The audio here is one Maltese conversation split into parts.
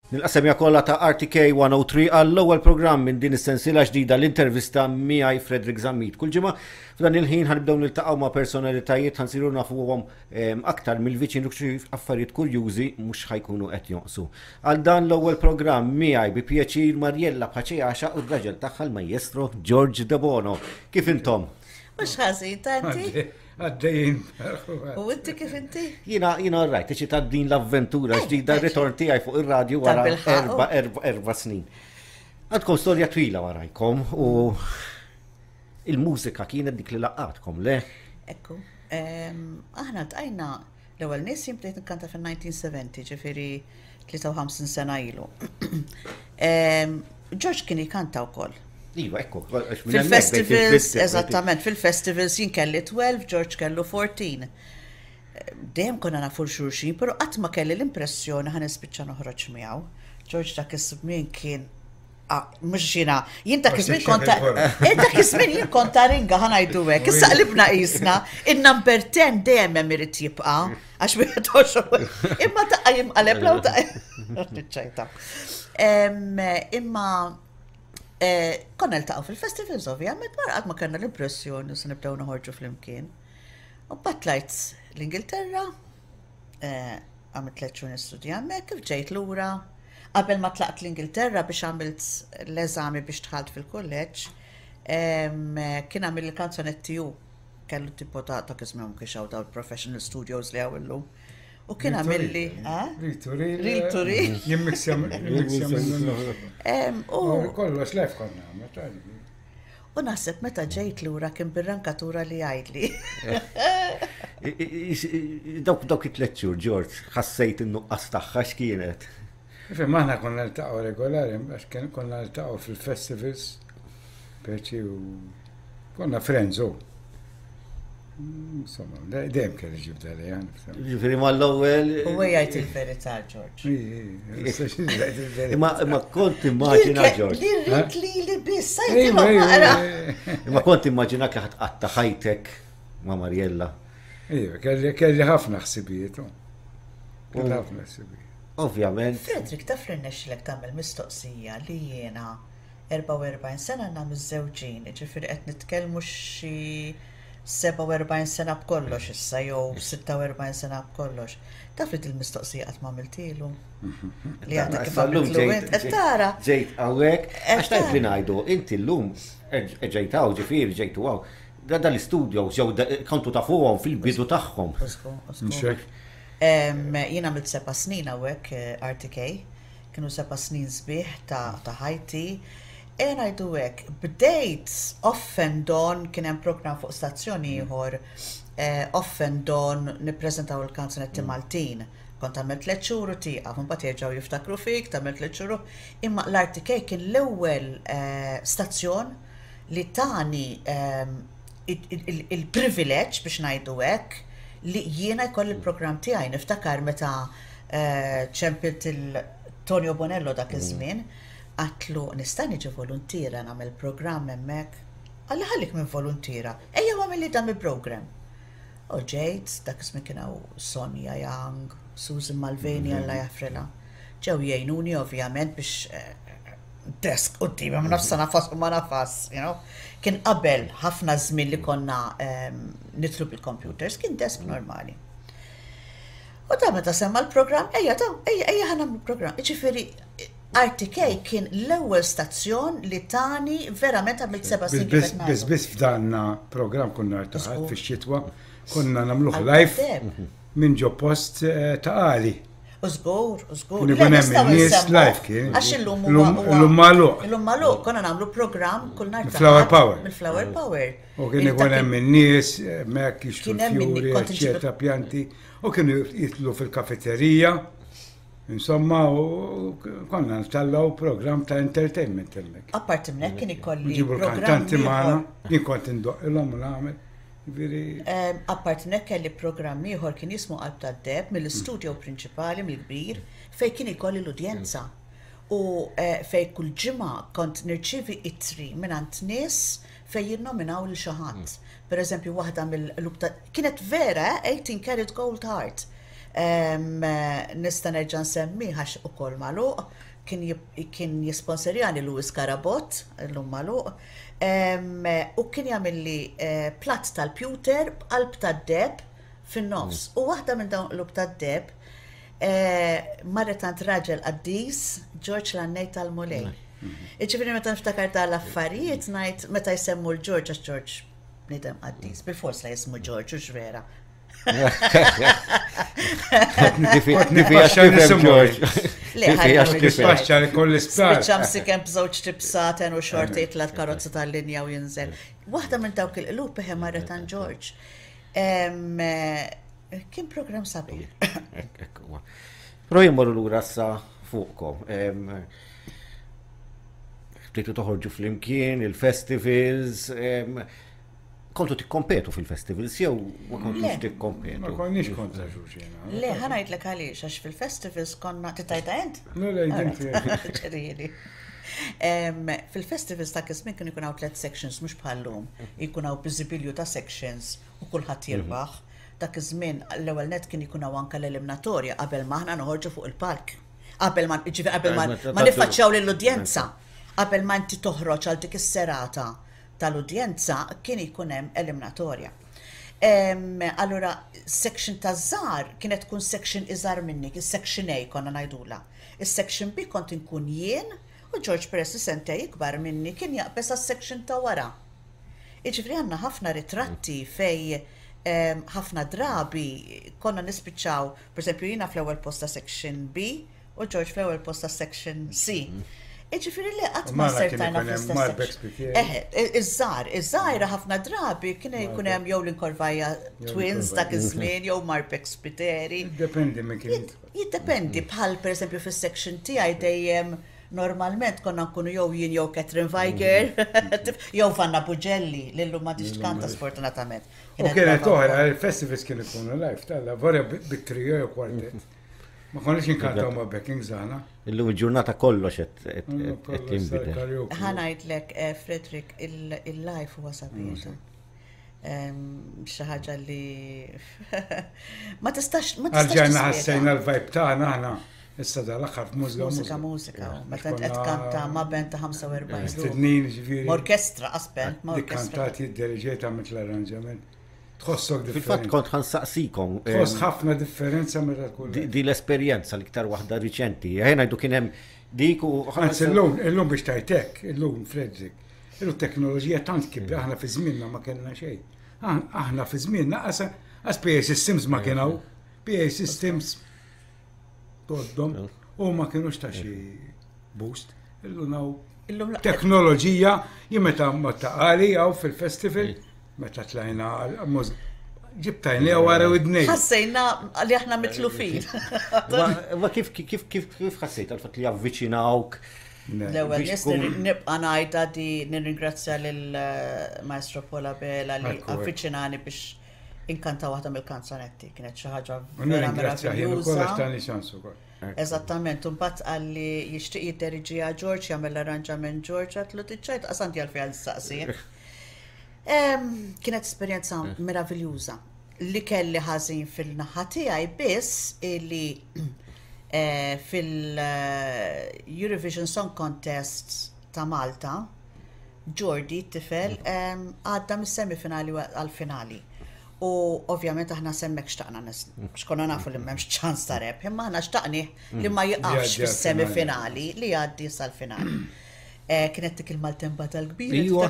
Nilqa' kollha ta' RTK 103 għall-ewwel programm minn din is-sensiela ġdida l-intervista miegħi Frederick Zammit. Kull ġimgħa f'dan il-ħin ħanibdew niltaqgħu ma' personalitajiet ħansiru nafuhom ehm, aktar mill-viċin u xi affarijiet kurjużi mhux ħajkunu qed jonqsu. Għal dan l-ewwel programm miegħi bi pjaċir Mariella Paċeaxa u r-raġel tagħha l-Majestro George Debono. Kif intom? Mhux ħażin tanti. Għaddejjin. U inti kif inti? Jina, jina rajt, ċi ta' din l-avventura eh, ġdida, eh, ritorn tiegħi fuq ir-radju wara erba, erba, erba snin. Għandkom storja twila warajkom u il-mużika kienet dik li laqatkom, le? Ekku, aħna tqajna l-ewwel nies jien bdejt nkanta fil-1970, ġifieri 53 sena ilu. George kien jkanta wkoll. Iva, ekku. Fil-festivals, eżattament, fil-festivals jien kelli 12, George kellu 14. Dejjem konna nafu l-xulxin, pero qatt ma kelli l-impressjoni ħa nispiċċa noħroġ miegħu. George dak iż-żmien kien ah, mhux jiena, jien dak iż-żmien kont eh, dak iż-żmien jien kont taringa ħa ngħidu hekk. Issa qlibna qisna, in-number 10 dejjem hemm irid jibqa' għax wieħed għoxol. Imma taqqa jimqaleb law taqqa. Ċajta. Imma eh, konna ltaqgħu fil-festivals ovvjament, ma qatt ma kellna l-impressjoni se nibdew noħorġu flimkien. U batlajt l-Ingilterra, eh, għamilt tliet xhur nistudja hemmhekk, kif ġejt lura, qabel ma tlaqt l-Ingilterra biex għamilt l-eżami biex dħalt fil-kulleġġ, kien għamil il-kanzonetti hu. Kellu tipo ta' ta' kizmem kiex hawn dawn professional studios li hawn illum. U kien għamilli. Reel to reel. Reel to reel. Jimmiksja U kollox lef konna għamil. U naħseb meta ġejt lura kien bir-rankatura li għajdli. Dawk dawk it-tliet xhur, George, ħassejt in-nuqqas tagħha x'kienet. Ifhem aħna konna niltaqgħu regolari għax konna niltaqgħu fil-festivals peċi u konna friends u. Insomma, dejjem kelli ġibda li għan. Ġifieri mal-ewwel. U jgħid il-verità, George. Imma imma kont immaġina George. Li rrid li li biss, Imma kont immaġina kif ħadd ħajtek ma' Mariella. Iva, kelli ħafna ħsibijiet. Kelli ħafna ħsibijiet. Ovvjament. Frederick, taf li rnexxilek tagħmel mistoqsija li jiena 44 sena għandna miżżewġin, jiġifieri qed nitkellmu xi 47 sena b'kollox issa jew 46 sena b'kollox. Taf li dil-mistoqsija qatt ma għamiltilu? Li għadha kif għamiltlu int, qed tara. Ġejt hawnhekk, għax tajt li ngħidu, inti llum ġejt hawn, ġifieri ġejtu hawn. Dan l-istudios jew kontu tafuhom fil-bidu tagħhom. Jien għamilt seba' snin hawnhekk eh, RTK, kienu seba' snin sbieħ ta' ħajti. E ngħidu hekk, bdejt off and on kien hemm programm fuq stazzjon ieħor eh, off and on nippreżentaw il-kanzunetti mm. Maltin. Kont għamilt tliet xhur u tieqaf, imbagħad jerġgħu jiftakru fik, tagħmel tliet xhur. Imma l-RTK kien l-ewwel eh, stazzjon li tani ehm, il-privileġġ biex ngħidu hekk li jiena jkolli l-programm tiegħi. Niftakar meta eh, ċempilt il-Tonio Bonello dak mm. iż-żmien, għatlu nista' niġi voluntiera nagħmel programm hemmhekk. Qalli ħallik minn voluntiera, ejja għamilli dan il-programm. U ġejt, dak iż-żmien kien hawn Sonja Young, Susan Malveni mm-hmm. Alla jaħfrilha. Ġew jgħinuni ovvjament biex eh, desk qudiemi ma nafx nafas u ma nafas, you know. Kien qabel ħafna żmien li konna ehm, nitlu bil-computers, kien desk normali. U ta' meta semma l-programm, ejja ta' ejja ejja ħa nagħmlu programm. Ġifieri RTK kien l-ewwel stazzjon li tani verament għamilt seba' snin. Biss biss f'danna programm konna rtaħat fix-xitwa, konna nagħmluh live minn ġo post eh, ta' għali. U żgur, u żgur. Kien ikun hemm in-nies live kien. Għax illum huwa. Illum magħluq. Illum magħluq, konna nagħmlu programm kull nhar. Flower Power. Mill-Flower Power. U kien ikun hemm in-nies hemmhekk jixtru fjuri, eċċetera, pjanti. U kienu jitlu fil-kafeterija. Insomma, u konna ntallaw programm ta' entertainment hemmhekk. Apparti minn hekk kien ikolli. Nġibu l-kantanti magħna, jien kont indoqqilhom u nagħmel. Apparti minn hekk kelli programm ieħor kien jismu Qalb tad-Deheb mill-istudio prinċipali mill-kbir fejn kien ikolli l-udjenza u fejn kull ġimgħa kont nirċievi ittri mingħand nies fejn jinnominaw lil xi ħadd. Per eżempju waħda mill-qlub ta' kienet vera, eh, 18 karat gold heart. Nista' nerġa' nsemmi għax ukoll magħluq, kien jisponserjani Louis Carabott, illum magħluq, u kien jagħmilli eh, platt tal-pewter b'qalb tad-deheb fin-nofs. U waħda minn dawn qlub tad-deheb eh, marret għand raġel qaddis, Ġorġ l-Għannej tal-Mulej. Iġifieri meta niftakar dawn l-affarijiet ngħid meta jsemmu l-Ġorġ għax Ġorġ bniedem qaddis, bil-fors la jismu Ġorġ u vera. Nispaxxa li koll isptar. Spiċċa msiken b'żewġ tibsaten u xorti jitla' karozza tal-linja u jinżel. Waħda minn dawk il-qlub eħe marret għand Ġorġ. Kien program sabiħ. Però jimmorru lura sa fuqkom. Bdejtu toħorġu flimkien, il-festivals, kontu tikkompetu fil-festivals jew ma kontux tikkompetu? Ma konniex kontra xulxin. Le, ħa ngħidlek għaliex, għax fil-festivals konna titajta int? Le, le, ġifieri. Fil-festivals ta' iż-żmien kienu jkun hawn tliet sections mhux bħal-lum. Jkun hawn biżibilju ta' sections u kulħadd jirbaħ. Dak iż-żmien l-ewwel nett kien ikun hawn anke l-eliminatorja qabel ma aħna noħorġu fuq il-palk. Qabel ma ġifieri qabel ma niffaċċjaw lill-udjenza. Qabel ma inti toħroġ għal dik is-serata tal-udjenza kien ikun hemm eliminatorja. Allura section taż-żgħar kienet tkun section iżgħar minni, is-section A konna ngħidulha. Is-section B kont inkun jien u George peress li sentej ikbar minni kien jaqbeż għas-section ta' wara. Jiġifieri għandna ħafna ritratti fejn ħafna drabi konna nispiċċaw, pereżempju jiena fl-ewwel post ta' section B u George fl-ewwel post ta' section C. Jiġifieri le qatt ma sertajna fl-istess section. Eħe, iż-żgħar, iż-żgħira ħafna drabi kien ikun hemm jew l-Inkorvaja Twins dak iż-żmien jew Marbeck Spiteri. Jiddependi minn kien. Jiddependi bħal pereżempju fis-section tiegħi dejjem Normalment konna nkunu jew jien jew Catherine Weiger, jew Vanna Bugelli, li llum m'għadhiex tkanta sfortunatament. U kienet oħra, il-festivals kienu jkunu live, tal vorja bit-trio jew kwartet. Ma konniex inkantaw ma' backings aħna. Illum il-ġurnata kollox qed jinbidel. Ħa ngħidlek, eh, Frederick, il-live huwa sabiħ. Xi ħaġa li ma tistax ma tistax. Għalġajna ħassejna l-vibe tagħna aħna issa dal-aħħar f'mużika. Mużika mużika. Meta qed kanta ma' band ta' 45. Stednin ġifieri. Orkestra qas band ma' orkestra. Kantati id-diriġejt għamilt l-arranġament. Tħossok differenti. Fil-fatt kont ħansaqsikom. Tħoss ħafna differenza meta tkun. Di l-esperjenza l-iktar waħda riċenti. Ejja ngħidu kien hemm dik u. Anzi llum, illum biex tajtek, illum Frederick. Illum teknoloġija tant kibra, aħna fi żmienna ma kellna xejn. Aħna fi żmienna qas PA Systems ma kien hawn. PA Systems toddhom u ma kienux ta' xi boost. Illum hawn teknoloġija jien meta ma taqali hawn fil-festival meta tlajna ġibtajni għaw għara widnej. Ħassejna li aħna mitlufin. Ma kif kif kif kif ħassejt għal-fatt li avviċinawk L-ewwel nies nibqa' ngħidha di nirringrazzja lil eh, Maestro Paul Abela li avviċinani biex inkanta waħda mill-kanzonetti. Kienet xi ħaġa vera meraviljuża. Eżattament, u mbagħad qalli jixtieq jidderiġiha George, jagħmel l-arranġament George, għatlu tiċċajt qas għandi għalfejn għal saqsi. Kienet esperjenza meraviljuża. Li kelli ħażin fil-naħa tiegħi biss li eh, fil-Eurovision Song Contest ta' Malta, Jordi, t-tifel, għadda mis-semifinali għal-finali. U ovvjament aħna semmek xtaqna xkonna nafu li m'hemmx ċans ta' rebħ, imma aħna xtaqni li ma jiqafx fis-semifinali li jgħaddi sal-finali. Eh, kienet dik il-maltempata l-kbira. Iwa.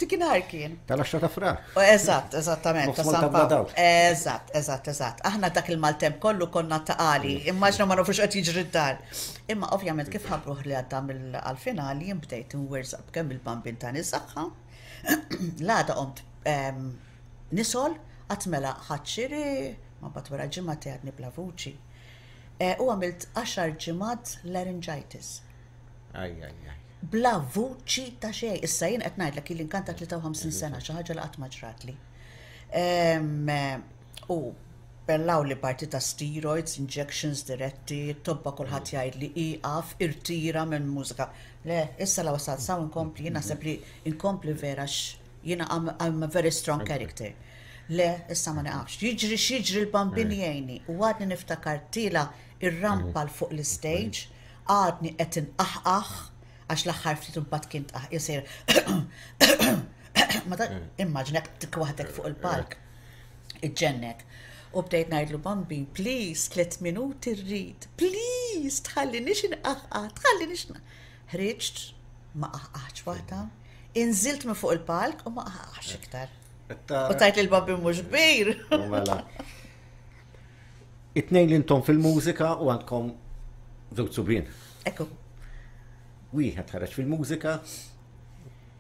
Dik inhar kien. Tal-10 ta' frar. Oh, eżatt, eżattament. Ta' San Pawl. Eżatt, eżatt, eżatt. Aħna dak il-maltemp kollu konna ta' qali. Immaġna ma nafux qed jiġri d-dar. Imma ovvjament kif ħabruh li għadda mill-finali jien bdejt nwerżaq b'kemm il-bambin ta' nisaħħa. L-għada qomt ehm, nisol, qatt mela ħadd xiri, ma bat wara ġimgħa għadni bla vuċi. Eh, u għamilt 10 ġimgħat laryngitis. Aj, aj, aj. Bla vuċi ta' xejn. Issa jien qed ngħidlek ili nkanta 53 sena, xi ħaġa li qatt ma ġratli. U bellaw li parti ta' steroids, injections diretti, tobba kulħadd jgħid li iqaf, irtira minn mużika. Le, issa la wasalt saw inkompli, jien naħseb li inkompli vera jiena I'm a very strong character. Le, issa ma niqafx. Jiġri x'jiġri l-Bambin jgħinni. U għadni niftakar tiela' ir-rampa 'l fuq l-istage, għadni qed inqaħqaħ, għax l-aħħar ftit imbagħad kien tqaħqih sejjer ma ta' immaġina tik waħdek fuq il-palk. Iġġennek. U bdejt ngħidlu Bambin, please, tlet minuti rrid, please, tħallinix inqaħqaħ, tħallinix. Ħriġt, ma qaħqaħtx waħda, inżilt minn fuq il-palk u ma qaħqaħx iktar. U tajt li l-Bambin mhux kbir. Mela. It-tnejn li intom fil-mużika u għandkom żewġ subien. Ekku. Wieħed ħareġ fil-mużika,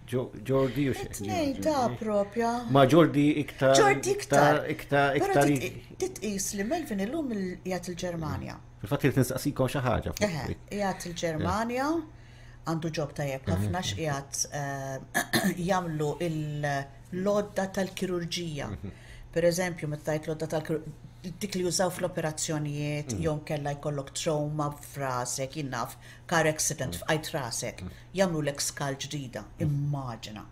Jordi u xi. Tnejn ta' propja. Ma Jordi iktar. Jordi iktar. Iktar, iktar. Titqis li Melvin illum qiegħed il-Ġermanja. Fil-fatt irid nistaqsikom xi ħaġa. Qiegħed il-Ġermanja, għandu ġob tajjeb ħafna x'qiegħed eh, jagħmlu l-lodda tal-kirurġija. Mhm. Per eżempju, meta tajt lodda tal-kirurġija dik li jużaw fl-operazzjonijiet, mhm. jew kella jkollok trauma f'rasek, jinnaf, car accident mhm. f'qajt rasek. Jagħmlulek skal ġdida, immaġina.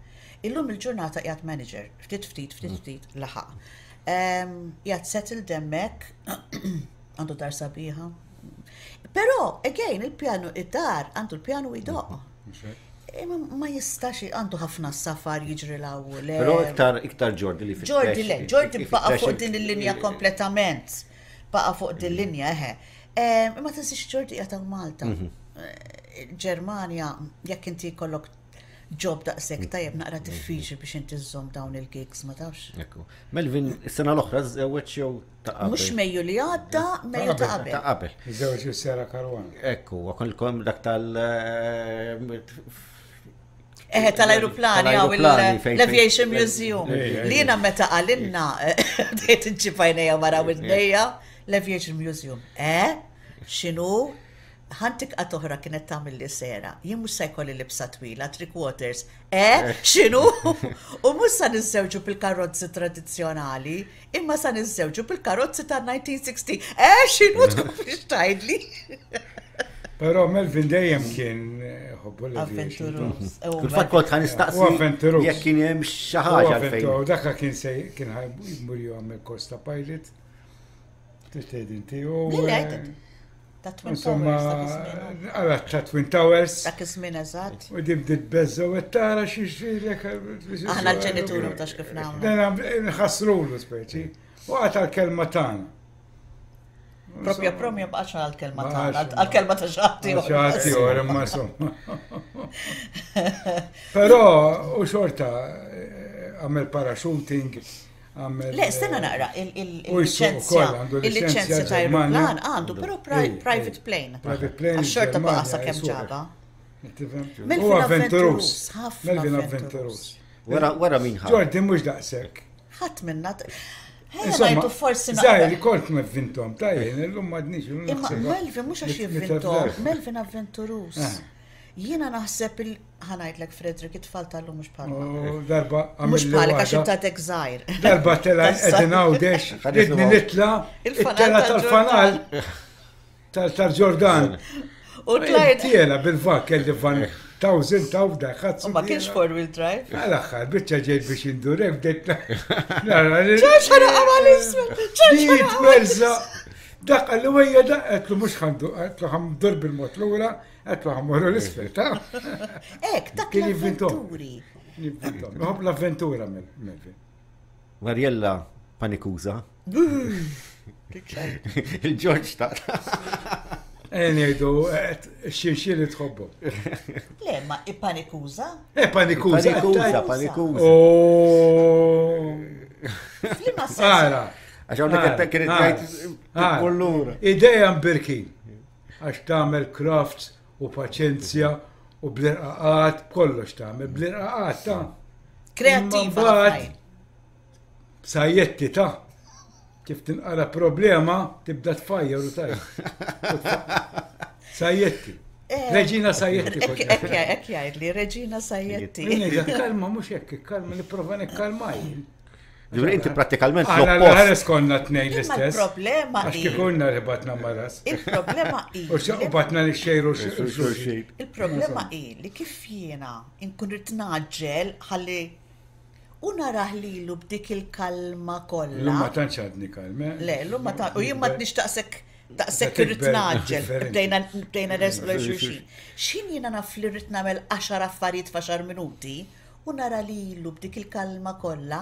Illum il-ġurnata qiegħed manager, ftit ftit, ftit ftit, laħaq. Qiegħed settled hemmhekk, għandu dar sabiħa. Però, again, il-pjanu, id-dar, għandu l-pjanu jdoqq. Imma ma jistax, għandu ħafna safar jiġri l-hawn u le. Però iktar, iktar Jordi li fittex. Jordi le, Jordi baqa' fuq din il-linja kompletament. Baqa' fuq din linja, eħe. Imma tinsiex Jordi qiegħed hawn Malta. Ġermanja, jekk inti jkollok ġob daqshekk tajjeb naqra diffiċli biex inti żżomm dawn il-gigs, ma tafx. Ekku. Melvin, is-sena l-oħra żewweġ jew ta' qabel? Mhux Mejju li għadda, Mejju ta' qabel. Ta' qabel. Żewġ is-Sera Caruana. Ekku, kolkom dak tal Eħe, tal-ajruplani għaw l-Aviation Museum. Li jena meta għalinna, dejt nċifajnija mara widnejja, l-Aviation Museum. Eh? X'inhu? Ħantik qatt oħra kienet tagħmilli sera. Jien mhux se jkolli libsa twila, three quarters. Eh, x'inhu? U mhux sa niżżewġu bil-karozzi tradizzjonali, imma sa niżżewġu bil-karozzi ta' 1960. Eh, x'inhu tkomplix tgħidli? Però Melvin dejjem kien ħobbu l-aviation. Avventuruż. Fil-fatt kont ħa nistaqsi Avventuruż. jekk kien hemm xi ħaġa għalfejn. Dak kien se kien ħaj jagħmel kors ta' pilot. Trid inti u. Ta' Twin Towers dak iż-żmien. Għala ta' Twin Towers. Dak iż-żmien eżatt. U din bdiet beżża u tara xi xilek. Aħna l-ġenituri ma tax kif nagħmlu. Nħassrulu speċi. U għata l-kelma tagħna. Propja promja baqax għal-kelma tagħna, għal-kelma ta' xaħti. Xaħti ora ma insomma. Però u xorta eh, għamel parachuting Le, stenna naqra, il-licenzja il-licenzja ta' aeroplan għandu, però private plane. Private plane. Għax-xorta baqa' sa kemm ġaba. Melvin avventurus. Melvin avventurus. Wara wara min ħa. Ġordi mhux daqshekk. Ħadd minna. Insomma, forsi Zaħir, kont mevvintom, tajjen, illum madnix. Imma Melvin mhux għax jivvintom, Melvin avventurus. Eh. Jiena naħseb il ħa ngħidlek Frederick it-tfal tal-lum mhux bħalna. Oh, darba Mhux bħalek għax inta għadek żgħir. Darba tela qegħdin Għawdex, ridni nitla' it-tela tal-fanal tal-Ġordan. U tlajt. Tiela bil-vak kelli van tawżin taw da ħadd. Ma kienx four wheel drive. Għal-aħħar biċċa ġejt biex indurek bdejt. ċaċ ħana għamal isma. ċaċ ħana. Dak għallu għajja daq, għetlu mux ħandu, għetlu ħamdur bil-mot l-ura, Għetlu ħammorru l-isfel, ta' Ek, dak l-avventuri. Nħobb l-avventura, Melvin. Mariella panikuza. Il-Ġorġ ta' Nejdu, xinxin li tħobbu. Le, ma i-panikuza? E panikuza. Panikuza, panikuza. Oh. Flima sens. Ara. Għax għawnek kienet għajt. Ideja mbirkin. Għax tagħmel crafts u paċenzja u bl-irqaqat, b'kollox tagħmel, bl-irqaqat ta' Kreattiva. Sajjetti ta' kif tinqara problema tibda tfajjar u tajja. Sajjetti. Eh, Reġina Sajjetti. Ekk jgħidli, Reġina Sajjetti. Kalma, mhux hekk, kalma, nipprova nikkalma jien. Ġifieri inti prattikalment l-oppost. Aħna konna tnejn l-istess. Il-problema Għax kif konna li batna maras. Il-problema hi. U batna li xejru xulxin. Il-problema hi li kif jiena nkun rid naġġel ħalli. U narah lilu b'dik il-kalma kollha. Illum ma tantx għadni kalm, eh? Le, illum ma tantx, u jien ma tnix daqshekk daqshekk irrid ngħaġġel, bdejna bdejna nersqu lejn xulxin. X'ħin jiena naf li rrid nagħmel għaxar affarijiet f'għaxar minuti u nara lilu b'dik il-kalma kollha,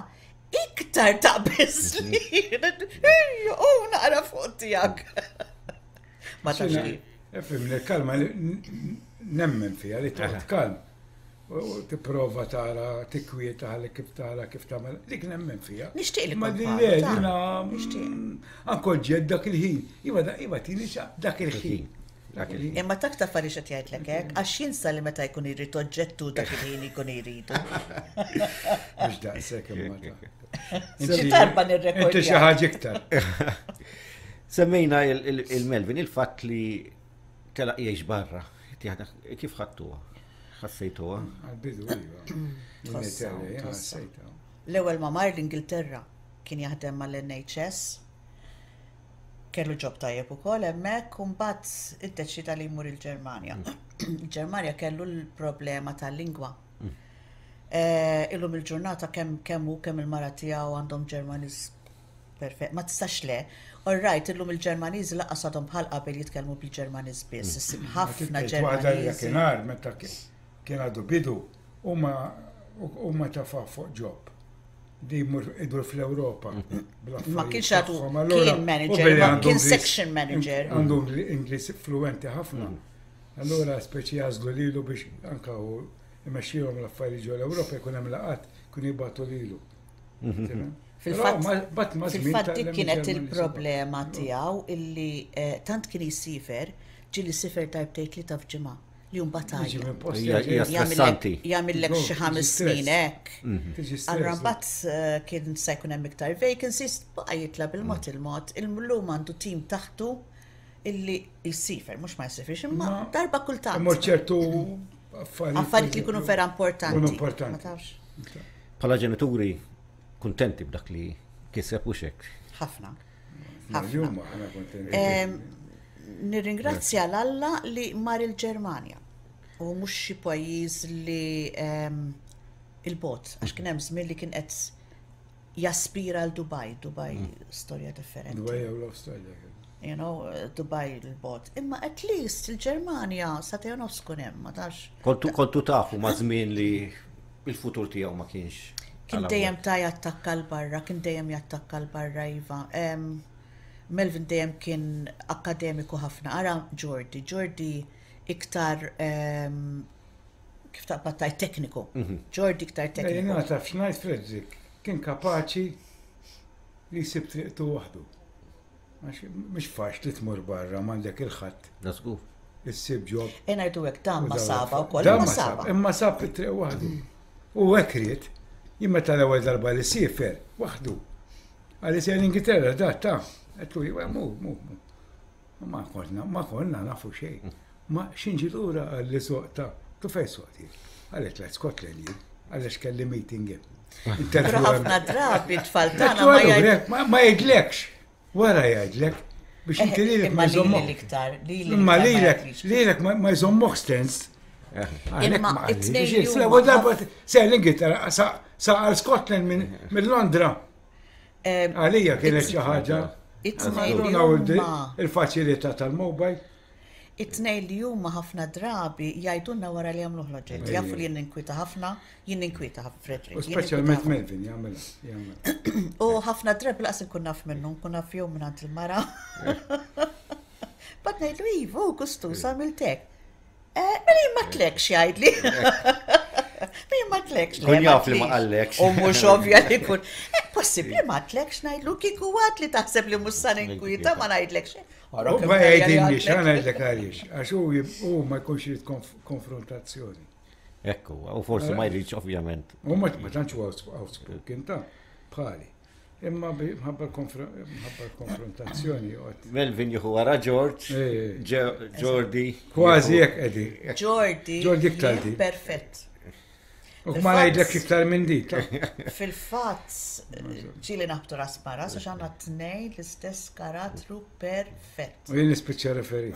iktar taqbiżli. U naqra fuq tiegħek. Ma tafx kif. Ifhimni, l-kalma nemmen fiha li toqgħod kalm. U tipprova tara, tikkwieta ħalli kif tara kif tagħmel, dik nemmen fiha. Nixtieq li Ma kont le, bħalu, ta' jiena Nixtieq. anke oġġett dak il-ħin. Iva, iva tini dak il-ħin. Dak il-ħin. Imma tak taf għaliex qed jgħidlek hekk, għax jinsa li meta jkun irid oġġettu dak il-ħin jkun iridu. Mhux daqshekk imma ta'. Xi darba nirrekordja. Inti xi ħaġa iktar. Semmejna il-Melvin, il-fatt li telaq jgħix barra. Kif ħadtuha? Ħassejtuha? Għal-bidu, iva. L-ewwel ma mar l-Ingilterra kien jaħdem mal-NHS. Kellu ġob tajjeb ukoll hemmhekk u mbagħad iddeċida li jmur il-Ġermanja. Il-Ġermanja kellu l-problema tal-lingwa. Eh, illum il-ġurnata kemm kemm hu kemm il-mara tiegħu għandhom Ġermaniż perfett. Ma tistax le. All right, illum il-Ġermaniżi lanqas għadhom bħal qabel jitkellmu bil-Ġermaniż biss. Issib ħafna Tgħid waħda li Ġermaniżi. dakinhar meta kien għadu bidu huma huma tafgħu fuq job li jmur idur fl-Ewropa bl-affarijiet Ma kienx għadu tagħhom. Allura, kien u manager, billi ma għandu kien Ingliż- section manager. Għandu Ingliż fluenti ħafna. Allura speċi jagħżlu lilu biex anka hu imexxihom l-affarijiet ġol Ewropa jkun hemm laqgħat jkun jibgħatu lilu. Fil-fatt, fil-fatt dik kienet il-problema tiegħu illi eh, tant kien jisifer, ġieli sifer darbtejn tlieta f'ġimgħa li mbagħad Hija hija stressanti. Jagħmillek xi ħames snin hekk. Tiġi Allura stress. mbagħad eh, kien se jkun hemm iktar vacancies, baqa' jitla' bil-mod il-mod. Illum għandu tim taħtu illi jsifer, mhux ma jsifirx, imma darba kultant. Imma ċertu affarijiet. Affarijiet li jkunu vera importanti. Jkunu importanti. Ma tafx. Bħala ġenituri kuntenti b'dak li kiseb u xek. Ħafna. Ħafna. Aħna kuntenti. Nirringrazzja l-Alla li mar il-Ġermanja u mhux xi pajjiż li il-bot, għax kien hemm żmien li kien qed jaspira għal Dubai, Dubai storja differenti. Dubai jew l-Awstralja. You know, Dubai il-bot. Imma at least il-Ġermanja sa nofs kun hemm, ma tafx. Kontu kontu tafu ma' żmien li il-futur tiegħu ma kienx. Kien dejjem ta' jattakka l-barra, kien dejjem jattakka l-barra, Iva. Melvin dejjem kien akademiku ħafna. Ara Jordi, Jordi iktar kif taqbad tgħid tekniku. Jordi iktar tekniku. Jiena taf x'ngħid Frederick, kien kapaċi li jsib triqtu waħdu. Għax mhix faċli tmur barra m'għandek il-ħadd. Da żgur. Issib job. E ngħidu hekk dan ma saba wkoll, Dan ma ma sab, saba. imma sab it-triq waħdu. U hekk ried, jien meta l-ewwel darba li siefer waħdu. Għalli se l-Ingilterra da ta' għedtlu iva mu, mu, mu. Ma konna, ma konna nafu xejn. Ma xinġi lura għalli soq ta' tu fej soqti. Għalli tlajt Scotland jien, għalli x'kelli meeting hemm. Però ħafna drabi t-tfal tagħna Għedtlu ma allura, jgħid. ma jgħidlekx. Wara jgħidlek biex inti lilek Imma ma lili jżommok. l-iktar, lili Imma l-iktar ma lilek, jgħidlix. lilek ma jżommok stens. Għalhekk Imma ma qalli. it-tnejn Biex li huma l-ewwel darba se l-Ingilterra sa għal Scotland minn Londra. Għalija kienet xi ħaġa. It-tnejn li Allura huma il-faċilità tal-mobile. It-tnejn li huma ħafna drabi jgħidulna wara li jagħmluh l-oġġett. Jafu li jien ninkwieta ħafna, jien ninkwieta ħafna Frederick. U jien ninkwieta speċjalment ħafna. Melvin jagħmilha. jagħmilha. U ħafna drabi laqas nkun naf minnu, nkun naf jew minn għand il-mara. Bad ngħidlu ivu, kustus għamiltek. Eh, Mela jien ma tlekx jgħidli. Mela jien ma tlekx. le, Kun jaf li ma tlix. qallekx. U mhux ovvja li kun. Eh, Possibbli ma tlekx ngħidlu kieku għad li taħseb li mhux sa ninkwieta ma ngħidlekx. Ara U kemm ma tajja li jgħidilniex, għadlek. għana ngħidlek għaliex, għax hu jib- hu ma jkunx irid konfrontazzjoni. Ekku, u forsi ma jridx ovvjament. U ma ma tantx huwa outspoken ta' bħali. Imma mħabba l-konfrontazzjoni joqgħod. Melvin jieħu wara George, Eh. Jordi. Kważi hekk qegħdin. Jordi. Jordi iktar jien di. Perfett. U ma ngħidlek iktar minn di. ta' Fil-fatt, ġieli naħbtu ras ma ras, għax għandna tnejn l-istess karattru perfett. U jien nispiċċa referi.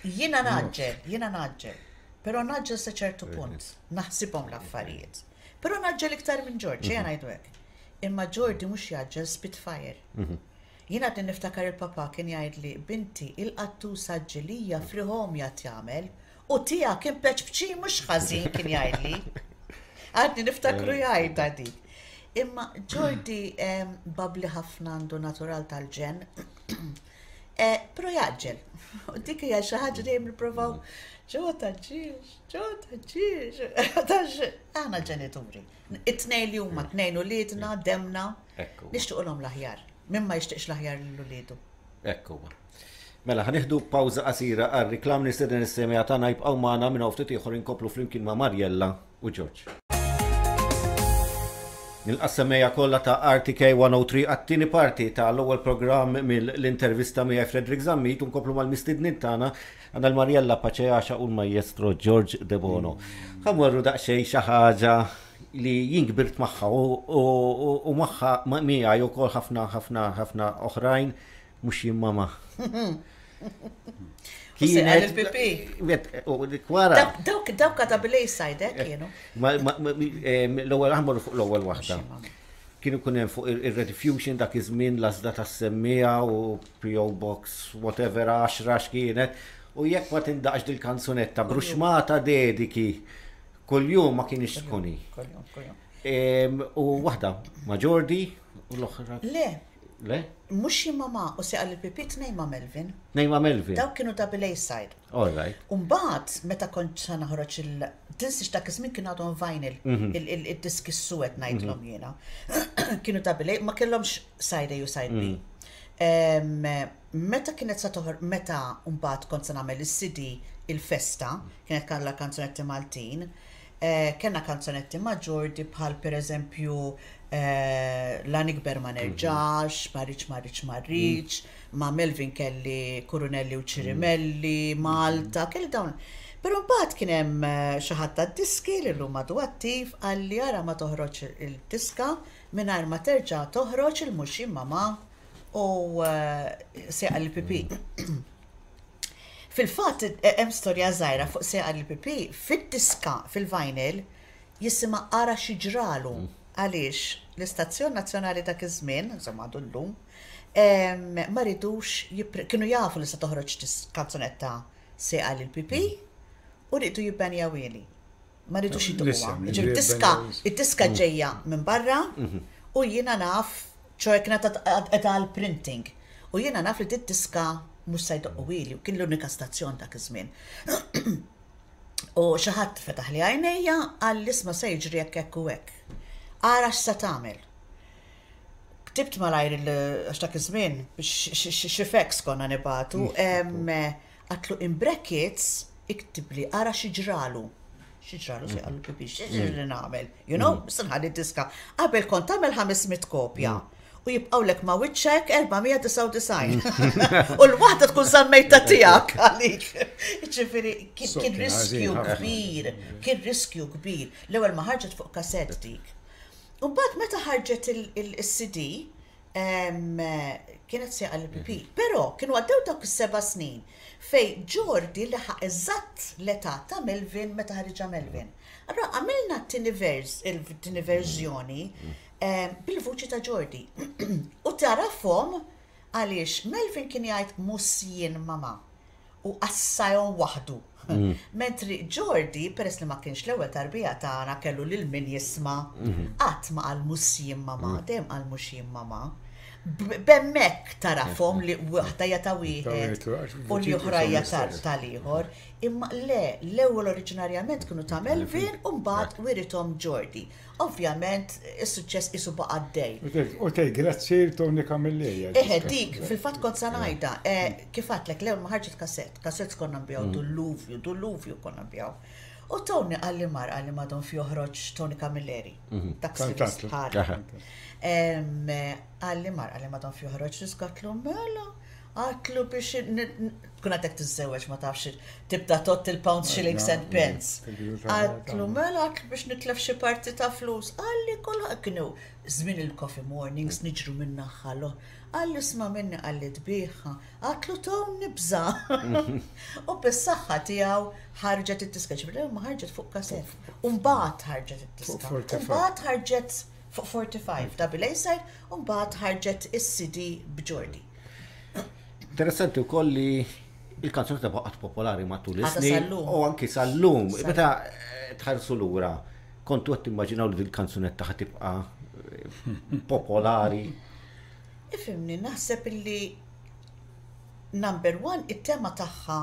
Jiena naġġel, jiena naġġel. Però naġġel sa ċertu punt, naħsibhom l-affarijiet. Però naġġel iktar minn George, ejja ngħidu hekk. Imma Jordi mhux jgħaġġel Spitfire. Jien għadni niftakar il-papà kien jgħidli, binti, il-qattusa ġilija friħomja tjagħmel u tiegħek impeċpċin mhux ħażin kien jgħidli. Għadni niftakru jgħidha dik. Imma Jordi bubbly ħafna għandu natural tal-ġenn. Però jgħaġġel. U dik hija xi ħaġa dejjem nippruvaw ġo taġġilx, ġo taġġilx. Aħna ġenituri. It-tnejn li huma tnejn uliedna, demna, nixtiequlhom l-aħjar. Min ma jixtieqx l-aħjar lil uliedu. Ekku. Mela, ħa nieħdu pawża qasira għal reklam nistieden is-semgħa tagħna jibqgħu magħna minn hawn ftit ieħor inkomplu flimkien ma' Mariella u George. Nilqa' s-semgħa kollha ta' RTK 103 għat-tieni parti tal-ewwel programm mill-intervista miegħi Frederick Zammit u nkomplu mal-mistednin tagħna għandna l-Mariella Paceaxa u l-Maestro George De Bono. Ħa mmorru daqsxejn xi ħaġa li jien kbirt magħha u magħha miegħi wkoll ħafna ħafna ħafna oħrajn mhux jien mama. Kienet il-pipi. Wara. Dawk dawk ta' bil side eh, kienu. L-ewwel aħmor fuq l-ewwel waħda. Kienu kun hemm fuq ir-Rediffusion dak iż-żmien l-għażla tas-semmiegħa u PO Box whatever 10 x'kienet. U jekk ma tindaqx dil-kanzunetta bruxmata dediki kuljum ma kienx tkuni. U waħda ma' Jordi u l-oħra. Le. Le? Mhux jien ma' u seqa l-pipi tnejn ma' Melvin. Tnejn ma' Melvin. Dawk kienu double A side. All right. Umbagħad meta kont sa naħroġ il tinsiex dak iż-żmien kienu għadhom vinyl, il-diski s-suwed ngħidlhom jiena. Kienu double A, ma kellhomx side A u side B. Meta kienet sa toħor, meta mbagħad kont sa nagħmel is-CD il-festa, kienet kellha kanzunetti Maltin, kellna kanzunetti ma' Jordi bħal pereżempju La nikber ma nerġax, ma rridx ma rridx ma rridx, ma' Melvin kelli Kurunelli u Ċirimelli, Malta, kelli dawn. Però mbagħad kien hemm xi ħadd tad-diski li llum għadu attiv qalli ara ma toħroġ il-diska mingħajr ma terġa' toħroġ il-Mhux Jien Mama u Sejqa lill-Pipi. Fil-fatt hemm storja żgħira fuq Sejqa lill-Pipi, fid-diska, fil-vinyl, jisimha Ara xi ġralu għaliex l-istazzjon nazzjonali dak iż-żmien, insomma għadu llum, ma ridux kienu jafu li se toħroġ kanzunetta Sejqa lill-Pipi u riedu jibbenjawhieli. Ma ridux jidduquha. Ġifieri id-diska ġejja minn barra u jiena naf, ċoe kienet qiegħda għall-printing, u jiena naf li did-diska mhux se jdoqquhieli u kien l-unika stazzjon dak iż-żmien. U xi ħadd fetaħli għajnejja qalli isma' se jiġri hekk hekk u hekk. Ara x'se tagħmel. Ktibt malajr għax dak iż-żmien xi fax konna nibagħtu, għatlu in brackets iktibli ara xi ġralu. Xi ġralu se qallu pipi, xi ġrali nagħmel, you know, se nħalli diska. Qabel kont tagħmel 500 kopja. U jibqgħulek ma' wiċċek 499. U l-waħda tkun żammejta tiegħek għalik. Ġifieri kien riskju kbir, kien riskju kbir. L-ewwel ma ħarġet fuq kasett dik. U mbagħad meta ħarġet il-CD, kienet sejqa l-PP. Però kienu għaddew dawk is-seba' snin fejn Jordi laħaq eżatt l-età ta' Melvin meta ħariġha Melvin. Allura għamilna t-tieni vers, il-tieni verżjoni bil-vuċi ta' Jordi. U tarafhom għaliex Melvin kien jgħid mhux jien mama u qassajhom waħdu. Mentri Jordi, peress li ma kienx l-ewwel tarbija tagħna kellu lil min jisma', qatt ma qal mhux jien mama, dejjem qal mhux jien mama. B'hemmhekk tarafhom li waħda hija ta' wieħed u l-oħra hija tal-ieħor. Imma le, l-ewwel oriġinarjament kienu ta' Melvin u mbagħad wirithom Jordi. Ovvjament, is-suċċess qisu baqa' għaddej. U tgħid grazzi lil Tony Camilleri. Eħe, dik, fil-fatt kont sa ngħidha, kif għedtlek, l-ewwel ma ħarġet kassett, kassetts konna nbigħu dulluvju, dulluvju konna nbigħu. U Tony qalli mar qalli madon fi joħroġ Tony Camilleri, taxi bħal. Qalli mar qalli madon fi joħroġ diska għedtlu mela. Għatlu biex tkun għadek tiżżewweġ ma tafx tibda tot il-pounds, shillings and pence. Għatlu mela għatlu biex nitlef xi parti ta' flus. Qalli kulħadd kienu żmien il-coffee mornings niġru minn naħa l Qalli isma' minni qalli tbigħha. Għatlu Tone nibża. U bis-saħħa tiegħu ħarġet id-diska. Ġifieri ma ħarġet fuq cassette. U mbagħad ħarġet id-diska. U mbagħad ħarġet fuq 45 double A-side u mbagħad ħarġet is-CD b'Ġordi. Interessanti wkoll li il-kanzunetta baqgħet popolari matul is-snin u anki sal-lum. Meta eh, tħarsu lura, kontu qed timmaġinaw li dil-kanzunetta ħa tibqa' eh, popolari. Ifhimni, naħseb illi number one, it-tema tagħha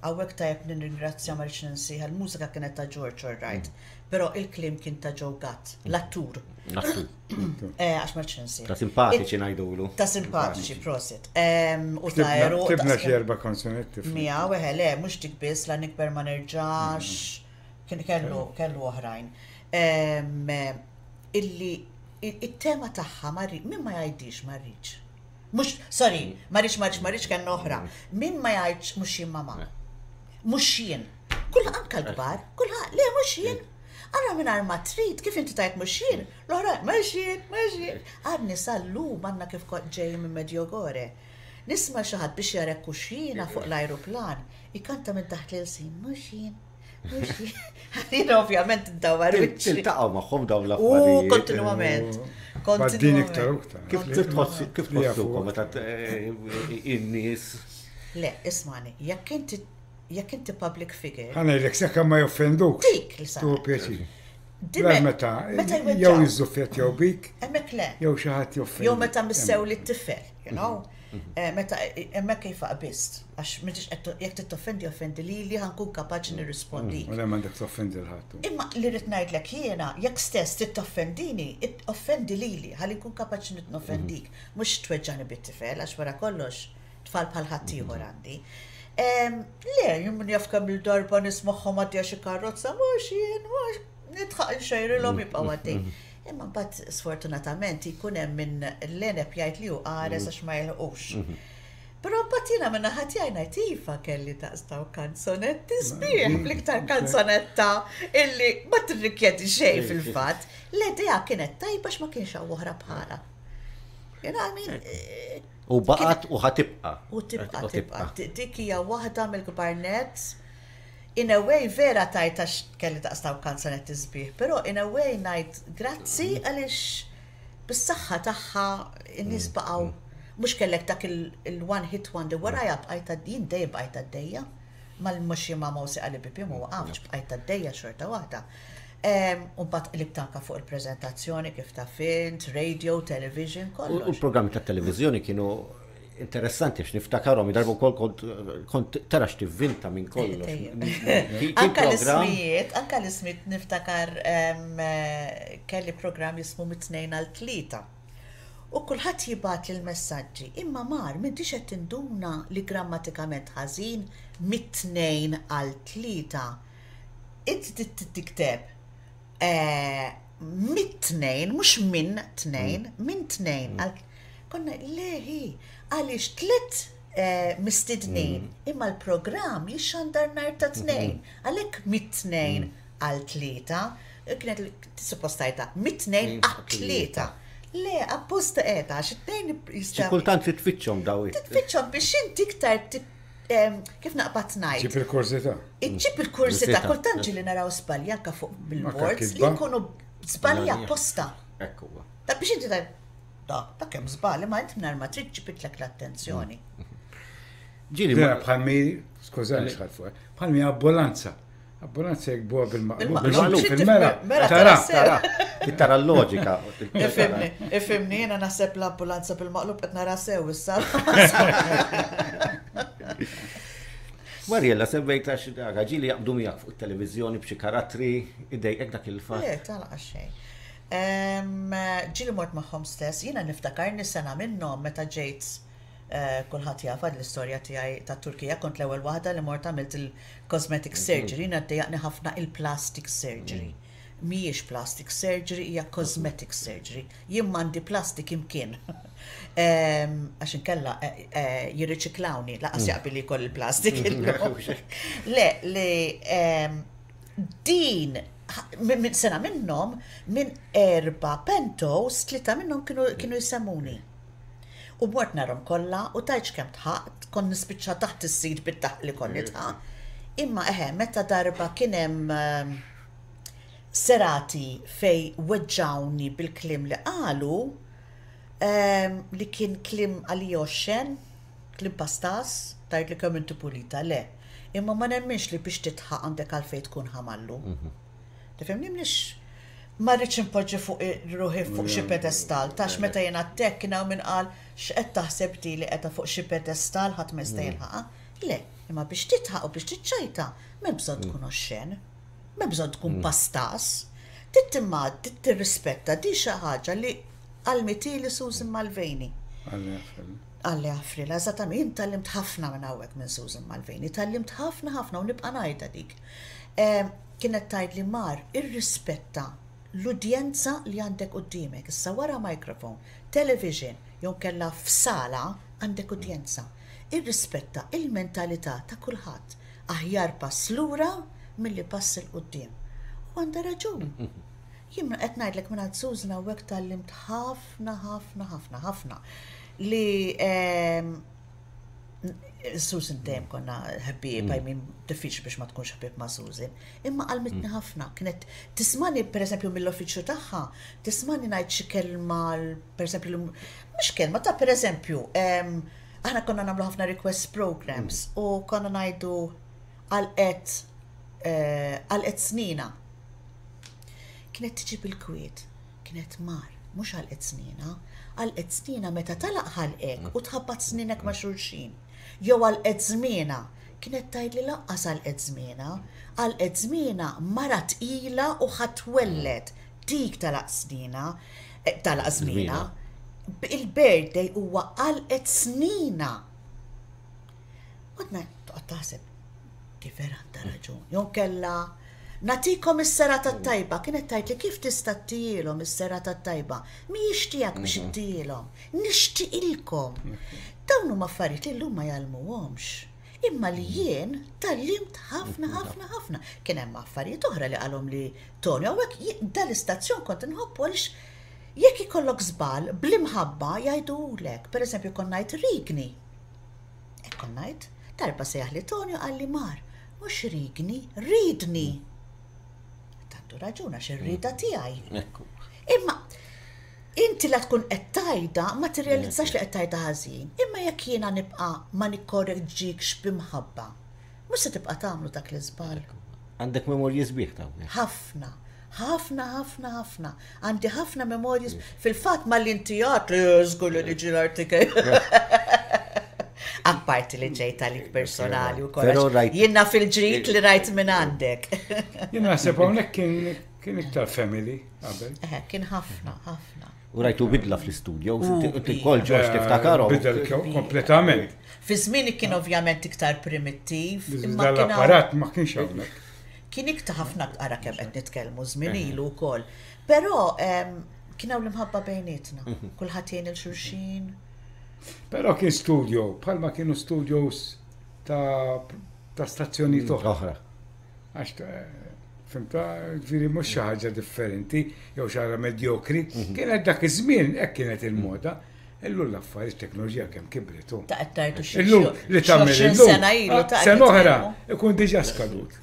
Hawnhekk tajjeb nirringrazzja ma rridx ninsiha, il-mużika kienet ta' George all right, però il-kliem kien ta' Joe Gatt, l-attur. L-attur. Eh, għax ma rridx ninsiha. Ta' simpatiċi ngħidulu. Ta' simpatiċi, prosit. U ta' eru. Ktibna xi erba' kanzunetti. Miegħu, eħe, le, mhux dik biss, la nikber ma nerġax, kien kellu kellu oħrajn. Illi it-tema tagħha ma min ma jgħidix ma rridx. Mhux, sorry, ma rridx, ma rridx, ma rridx kellna oħra. Min ma jgħidx mhux jien mama. Mhux jien. Kull anka l-kbar, kulħadd, le mhux jien. Ara mingħajr ma trid, kif inti tajt mhux jien, l-oħra mhux jien, mhux jien. Għadni sal-lum għandna kif kont ġej minn Medjugorje. Nisma' xi ħadd biex jarek hux jiena fuq l-ajruplan, ikanta minn taħt l-ilsien, mhux jien. Jien ovvjament id-dawar. Tiltaqgħu magħhom dawn l-affarijiet. U kontinwament. Din iktar u iktar. Kif tħossu kif tħossukom meta eh, in-nies? Le, ismani, jekk inti jekk inti public figure. Ħa ngħidlek sakemm ma joffenduk. Dik li sa. Tu pjaċir. Meta jew jiżżuffjet jew bik. Hemmhekk le. Jew xi ħadd joffendi. Jew meta missew li t-tifel, you know. Eh, meta eh, hemmhekk kif qbist, għax m'intix qed jekk tittoffendi offendi lili ħa nkun kapaċi nirrispondi. U le m'għandek toffendi 'l ħadd. Imma li rrid ngħidlek jiena, jekk stess tittoffendini, offendi lili ħalli nkun kapaċi noffendik, mhux tweġġani bit-tifel għax wara kollox tfal bħal ħaddieħor għandi. Le, jien min jaf kemm il-darba nismagħhom għaddejja xi karozza, mhux jien, mhux nidħaq inxejrilhom jibqgħu għaddej. Imma mbagħad sfortunatament jkun hemm min l-għeneb jgħid li hu qares għax ma jilħqux. Però mbagħad jiena minn naħa tiegħi ngħid iva kelli daqs dawn kanzonetti sbieħ bl-iktar kanzonetta illi ma tirrikjedi xejn fil-fatt. L-idea kienet tajba għax ma kienx hawn oħra bħalha. You know, I mean, eh, U baqgħet u ħatibqa. U tibqa, tibqa. Dik hija waħda mill-kbar nett In a way vera tajt għax kelli daqs dawk kanzunetti sbieħ, però in a way ngħid grazzi għaliex bis-saħħa tagħha n-nies baqgħu mhux kellek dak il-one hit wonder warajha bqajt jien dejjem bqajt għaddejja mal-mhux jien ma' Mawsi Qalbi ma waqaftx bqajt għaddejja xorta waħda. U mbagħad qlibt anke fuq il-preżentazzjoni kif taf int, radio, television, kollox. U l-programmi tat-televiżjoni kienu interessanti għax niftakarhom darba wkoll kont kont tara x'tivvinta minn kollox. Anka l-ismijiet, anka l-ismijiet niftakar kelli programm jismu mit-tnejn għal tlieta. U kulħadd jibgħatli l-messaġġi, imma Mar, m'intix qed tinduna li grammatikament ħażin mit-tnejn għal tlieta. Inti trid tikteb mit-tnejn, mhux minn tnejn, minn tnejn għal Konna le hi, għaliex tlet eh, mistednin, mm. imma l-programm jixxandar nhar ta' tnejn, mm. għalhekk mit-tnejn mm. għal tlieta, kienet suppostajta mit-tnejn għal tlieta. Le, apposta qiegħda għax it-tnejn jista' Kultant titfittxhom daw. Titfittxhom biex inti iktar kif naqbad ngħid. Ġib il-kurzità. Iġġib il-kurzità, kultant ġieli naraw żbalji anke fuq billboards li jkunu żbalji apposta. Ekku. Ta' biex inti Da, dak hemm żball, imma int mingħajr ma trid ġbitlek l-attenzjoni. Ġieli ma bħalmi, skużani xħal fuq, bħalmi ambulanza. Ambulanza jekk buha bil-maqlub. Fil-mera, tara, tara. Tara l-loġika. Ifimni, ifimni, jiena naħseb l-ambulanza bil-maqlub qed nara sew issa. Mariella, semmejt għax ġieli jaqbdu miegħek fuq it-televiżjoni b'xi karattri idejqek dak il-fatt. Le, talqa xejn. Ġieli mort magħhom stess, jiena niftakarni sena minnhom meta ġejt eh, kulħadd jafha l-istorja tiegħi tat-Turkija, kont l-ewwel waħda li mort għamilt il-cosmetic surgery, jiena ddejjaqni ħafna il-plastic surgery. Mhijiex plastic surgery, hija cosmetic surgery. Jien m'għandi plastic imkien. Għax inkella eh, eh, jirriċiklawni, laqas mm. jaqbil li jkoll il-plastic. Le, li din minn sena minnhom minn erba pentos, tlieta minnhom kienu jsemmuni. U mort narhom kollha u tgħidx kemm dħaqt, kont nispiċċa taħt is-seat bid-daħq li kont nidħaq. Imma eħe, meta darba kien hemm serati fejn weġġgħuni bil-kliem li qalu, li kien kliem għalija oxxen, kliem pastas, tgħidli kemm inti pulita, le. Imma ma nemminx li biex tidħaq għandek għalfejn tkun ħamallu. Tifhimni mniex ma rridx inpoġġi fuq ruħi fuq xi pedestal, tax meta jien għadtek kien hawn min qal x'qed taħseb di li qiegħda fuq xi pedestal ħadd ma jista' jilħaqha. Le, imma biex titħaq u biex tiċċajta m'hemm bżonn tkun oxxen, m'hemm bżonn tkun pastas. Trid imma trid tirrispetta di xi ħaġa li għallmitili Susan Mulvaney. Alla jaħfrilha, eżattament, jien tgħallimt ħafna minn hawnhekk minn Susan Mulvaney, tgħallimt ħafna ħafna u nibqa' ngħidha dik. Kienet tgħidli Mar, irrispetta l-udjenza li għandek quddiemek. Issa wara microphone, television jew inkella f'sala għandek udjenza. Irrispetta il-mentalità ta' kulħadd. Aħjar pass lura milli pass 'il quddiem. U għandha raġun. Jien qed ngħidlek mingħand Susan hawnhekk tgħallimt ħafna ħafna ħafna ħafna li Susan dejjem konna ħbieb, I mean, diffiċli biex ma tkunx ħbieb ma' Susan. Imma għallmitni ħafna, kienet tismani pereżempju mill-uffiċċju tagħha, tismani ngħid xi kelma, pereżempju, mhux kelma ta' pereżempju, aħna konna nagħmlu ħafna request programs u konna ngħidu għalqet għalqet snina. Kienet tiġi bil-kwiet. Kienet mar, mhux għalqet snienha, għalqet snienha meta tagħlaq ħalqek u tħabbat snienek ma' xulxin. Jew għalqet żmienha, kienet tgħidli lanqas għalqet żmienha, għalqet żmienha mara tqila u ħa twelled, dik tagħlaq snienha, tagħlaq żmienha. Il-birthday huwa għalqet snina. Għodna toqgħod taħseb, di vera għandha raġun. Jew kella Nagħtikom is-serata t-tajba, kienet tgħidli kif tista' ttihielhom is-serata t-tajba? Mhijiex tiegħek biex ittihielhom. Nixtieqilkom. Dawn huma affarijiet li llum ma jgħallmuhomx. Imma li jien tgħallimt ħafna ħafna ħafna. Kien hemm affarijiet oħra li qalhomli Tony hawnhekk dal-istazzjon kont inħobbu għaliex jekk ikollok żball bl-imħabba jgħiduhulek. Pereżempju kont ngħid rigni. Hekk kont ngħid. Darba sejjaħli Tony u qalli Mar, Mhux rigni, ridni. Għandu raġun għax ir-rieda tiegħi. Imma inti la tkun qed tgħidha ma tirrealizzax li qed tgħidha ħażin. Imma jekk jiena nibqa' ma nikkoreġġikx b'imħabba, mhux se tibqa' tagħmlu dak l-iżball. Għandek memorji sbieħ ta' Ħafna. Ħafna, ħafna, ħafna. Għandi ħafna memorji. Fil-fatt malli inti għat li żgur li niġi l-RTK. Apparti li ġejt għalik personali u kollox. Jiena fil-ġrid li rajt minn għandek. Jien naħseb hawnhekk kien kien iktar family qabel. Eh, kien ħafna, ħafna. U rajtu bidla fl-istudio, inti kol ġoġ tiftakarhom. Bidel kompletament. Fi żmien kien ovvjament iktar primittiv. Imma l-apparat ma kienx hawnhekk. Kien iktar ħafna ara kemm qed nitkellmu żmien ilu wkoll. Però kien hawn l-imħabba bejnietna. Mhm. Kulħadd jgħin il xulxin. Però kien studio, bħalma kienu studios ta' ta' stazzjonijiet mm, oħra. Għax eh, fimta, ġifieri mhux xi ħaġa differenti jew xi ħaġa medjokri. Mhm. Kienet dak iż-żmien hekk kienet il-moda. Illum l-affarijiet teknoloġija kemm kibret. Ta' qed tgħidu xi Illum li tagħmel illum. Sena ilu ta' sena oħra ikun diġà skadut.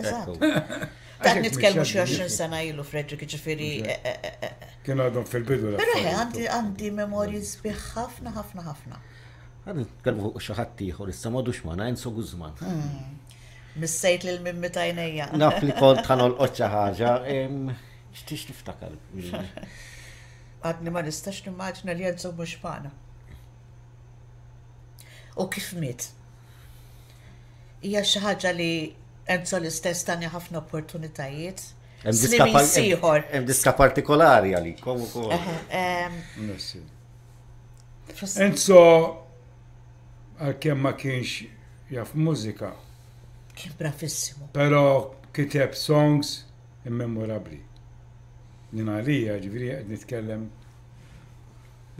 Ta' nitkellmu xi 20 sena ilu Frederick ġifieri. Eh, eh, eh, Kien għadhom fil-bidu. Però għandi għandi memorji sbieħ ħafna ħafna ħafna. Għad nitkellmu fuq xi ħadd ieħor issa m'għadux magħna Enzo Guzman. Hmm. Missejt lil mimmi tajnejja. Naf li kont ħanolqot xi ħaġa. X'tix tiftakar? Għadni ma nistax nimmaġina li Enzo mhux magħna. U kif miet? Hija xi ħaġa li Enzo l-istess tani ħafna opportunitajiet. Hemm diska partikolari għalikom ukoll. Enzo għalkemm ma kienx jaf mużika. Kien bravissimo. Però kiteb songs immemorabbli. Jien għalija, ġifieri qed nitkellem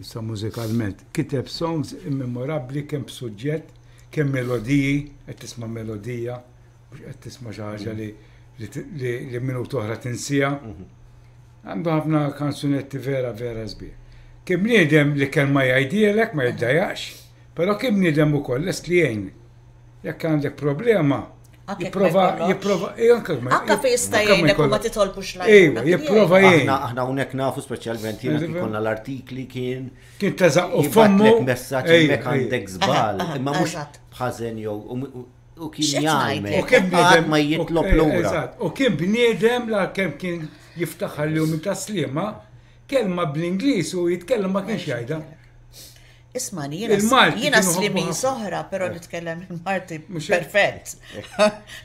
issa mużikalment, kiteb songs immemorabbli kemm b'suġġett, kemm melodiji, qed tisma' melodija, mhux qed tisma' xi ħaġa li li minuta oħra tinsieha. Għandu ħafna kanzunetti vera vera sbieħ. Kien bniedem li kelma jgħidhielek ma jiddejjaqx, però kien bniedem ukoll lest li jgħin. Jekk għandek problema, jipprova, jipprova, anke Anke fejn jista' jgħinek u ma titolbux l-għajnuna. Ejwa, jipprova jgħin. Aħna hawnhekk nafu speċjalment jiena kien konna l-artikli kien. Kien teżaq u fommu. Messaġġ hemmhekk għandek żball, imma mhux b'ħażen jew u kien jgħallmek. U kien bniedem ma jitlob lura. U kien bniedem la kemm kien jiftaħar li hu minn Tas-Sliema, kelma bl-Ingliż u jitkellem ma kienx jgħidha. Ismani, jiena jiena slimi soħra, però eh. nitkellem il-Malti perfett.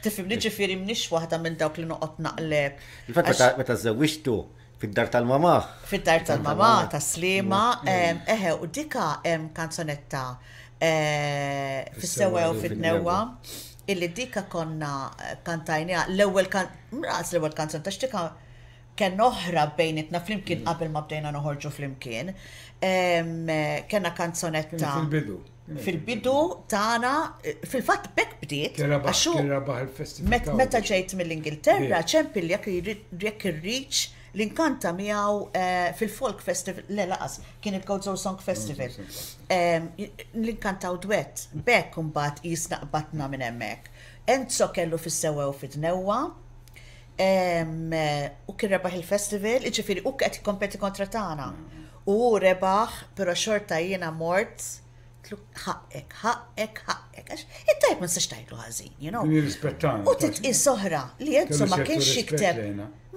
Tifhimni ġifieri mnix waħda minn dawk li noqgħod naqleb. Il-fatt meta żewwiġtu fid-dar tal-mamà. Fid-dar tal-mamà, ta' Slima, mm. eħe, u dika hemm kanzonetta eh, fis-sewa u fid-newwa illi dika konna eh, kantajnija l-ewwel kan, l-ewwel kanzonetta x'dika Kellna oħra bejnietna flimkien qabel ma bdejna noħorġu flimkien. Kellna kanzonetta. Fil-bidu. Fil-bidu tagħna, fil-fatt bekk bdiet. Kien rebaħ il-festival. Meta ġejt mill-Ingilterra, ċempilli jekk irridx li nkanta miegħu eh, fil-Folk Festival, le laqas, kien il-Gozo Song Festival. Li nkantaw duett, bekk imbagħad jisna qbatna minn hemmhekk. Enzo kellu fis-sewwa u fid-dnewwa, U kien rebaħ il-festival, jiġifieri hu qed jikkompeti kontra tagħna. U hu rebaħ, però xorta jiena mort tlu ħaqqek, ħaqqek, ħaqqek. Għax it-tajb ma nistax tgħidlu ħażin, you know. Nirrispettana. U titqis oħra li Enzo ma kienx jikteb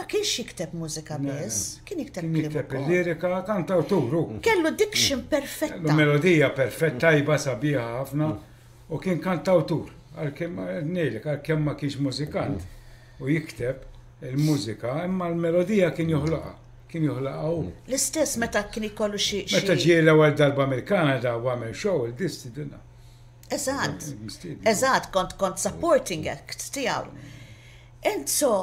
ma kienx jikteb mużika biss, kien jikteb kliem. Jikteb il-lirika, kantawtur. Kellu diction perfetta. Melodija perfetta, tajba sabiħa ħafna. U kien kantawtur, għalkemm ngħidlek għalkemm ma kienx mużikant u jikteb il-mużika, imma l-melodija kien joħloqha, kien joħloqha hu. L-istess meta kien ikollu xi. Meta ġie l-ewwel darba mill-Kanada u għamel show il-disti dinna. Eżatt. Eżatt, kont kont supporting act tiegħu. Enzo,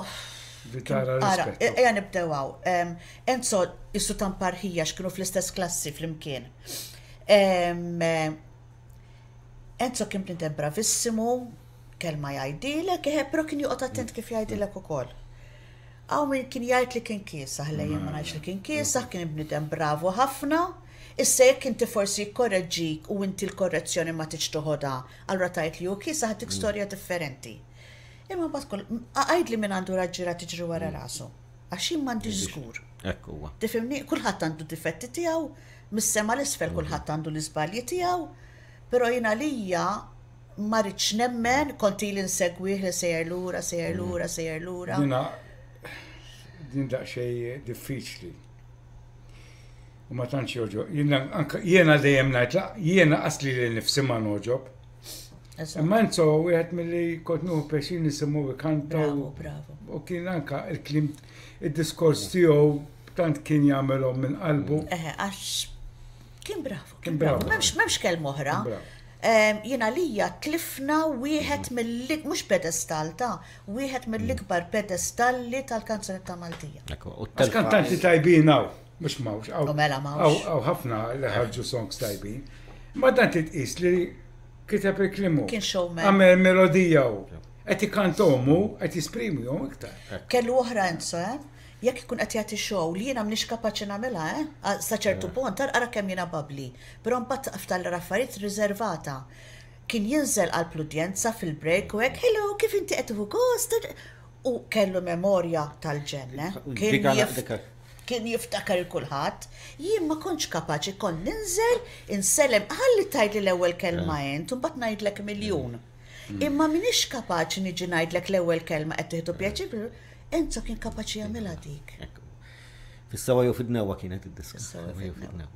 Ara, ejja nibdew hawn. Enzo isu tamparħija x'kienu fl-istess klassi flimkien. Enzo kien bniedem bravissimu, kelma jgħidilek, eħe, però kien joqgħod attent kif jgħidilek ukoll. Hawn min kien jgħid li kien kiesaħ, le jien ma ngħidx li kien kiesaħ, kien bniedem bravu ħafna. Issa jekk inti forsi jikkorreġġik u inti l-korrezzjoni ma tridx toħodha, allura tgħid li hu kiesaħ dik storja differenti. Imma mbagħad kull għidli min għandu raġġiera tiġri wara rasu. Għax jien m'għandix żgur. Hekk huwa. Tifhimni? Kulħadd għandu difetti tiegħu, mis-sema 'l isfel kulħadd għandu l-iżbalji tiegħu, però jien għalija ma ridtx nemmen, kont ili nsegwih li sejjer lura, sejjer lura, sejjer lura. Jiena din daqsxejn diffiċli. U ma tantx jogħġob. Jiena anke jiena dejjem ngħid jiena qas lili nnifsi ma nogħġob. Imma Enzo wieħed milli kont nieħu pjaċir nisimgħu ikanta. Bravo, bravo. U kien anka il-kliem id-diskors tiegħu tant kien jagħmelhom minn qalbu. Eħe, għax kien bravo. Kien bravo. M'hemmx m'hemmx kelma oħra. Jien għalija tlifna wieħed mill mhux pedestal ta' wieħed mill-ikbar pedestalli tal-kanzunetta Maltija. Għax kantanti tajbin hawn, mhux m'hawnx. U mela m'hawnx. Hawn ħafna li ħarġu songs tajbin. Ma dan titqis li Kiteb il-kliem hu. Kien showman. Għamel melodija hu. Qed ikantahom hu, qed jisprimihom iktar. Kellu oħra Enzo, eh? Jekk ikun qed jagħti show li jiena m'iniex kapaċi nagħmilha, eh? Sa ċertu punt, ara kemm jiena bubbly. Però mbagħad taqaf tal-affarijiet riservata. Kien jinżel qalb l-udjenza fil-break u hekk, hello, kif inti qed tieħu gost? U kellu memorja tal-ġenn, eh? Kien Kien jiftakar il kulħadd. Jien ma kontx kapaċi, kont ninżel, insellem, ħalli tgħidli l-ewwel kelma int u mbagħad ngħidlek miljun. Imma m'iniex kapaċi niġi ngħidlek l-ewwel kelma qed tieħdu pjaċir, Enzo kien kapaċi jagħmilha dik. Fis-sewwa jew fid-dnewwa kienet id-diska. Fis-sewwa jew fid-dnewwa.